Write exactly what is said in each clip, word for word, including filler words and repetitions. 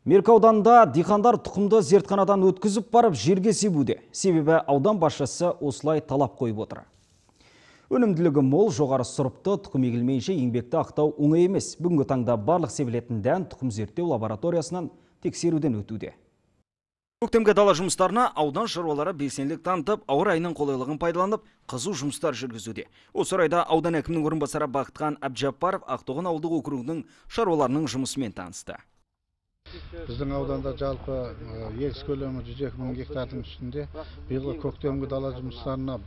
Меркі ауданында диқандар тұқымды зертханадан өткізіп барып жерге себуде. Себебі аудан басшысы осылай талап қойып отыр. Өнімділігі мол, жоғары сұрыпты тұқым егілмейінше еңбекті ақтау оңай емес. Бүгінгі таңда барлық себілетін дән тұқым зерттеу лабораториясынан тексеруден өтуде. Көктемгі дала жұмыстарына аудан шаруалары белсенділік танытып, ауа райының қолайлығын пайдаланып, қызу жұмыстар жүргізуде. Осы орайда аудан әкімінің орынбасары Бақытхан Әбжаппаров Ақтоған ауылдық округінің шаруаларының жұмысымен танысты. Біздің ауданда жалпы егіс көлемі жүз екі мың гектардың үстінде. Биылғы көктемгі дала жұмыстарына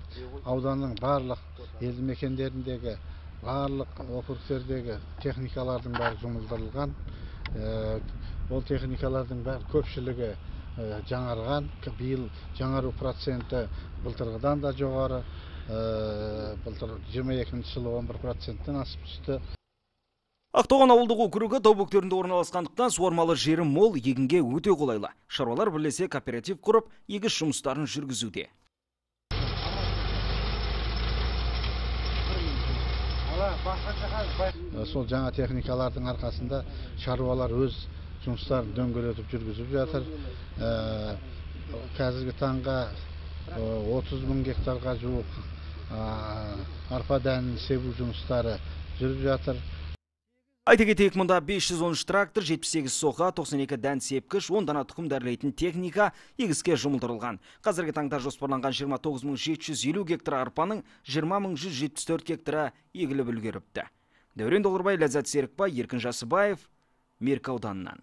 ауданның барлық елді мекендеріндегі, барлық округтердегі техникалардың бәрі жұмылдырылған. Ол техникалардың бәрі көпшілігі жаңарған. Биыл жаңару проценті былтырғыдан да жоғары. Былтыр жиырма екінші жылы он бір проценттен асып түсті. Ақтоған ауылдық округі тау бөктерінде орналасқандықтан суармалы жері мол, егінге өте қолайлы. Шаруалар бірлесе кооператив құрып, егіс жұмыстарын жүргізуде. Сол жаңа техникалардың арқасында шаруалар өз жұмыстарын дөңгелетіп жүргізіп жатыр. Қазіргі таңға отыз мың гектарға жуық арпа дәнін себу жұмыстары жүріп жатыр. Айта кетейік, мұнда бес жүз он үш трактор, жетпіс сегіз соқа, тоқсан екі дән сепкіш, он дана тұқым дәрілейтін техника егіске жұмылдырылған. Қазіргі таңда жоспарланған жиырма тоғыз мың жеті жүз елу гектар арпаның жиырма мың жүз жетпіс төрт гектары егіліп үлгеріпті. Дәурен Долырбай, Ләззат Серікбай, Еркін Жасыбаев, Меркі ауданынан.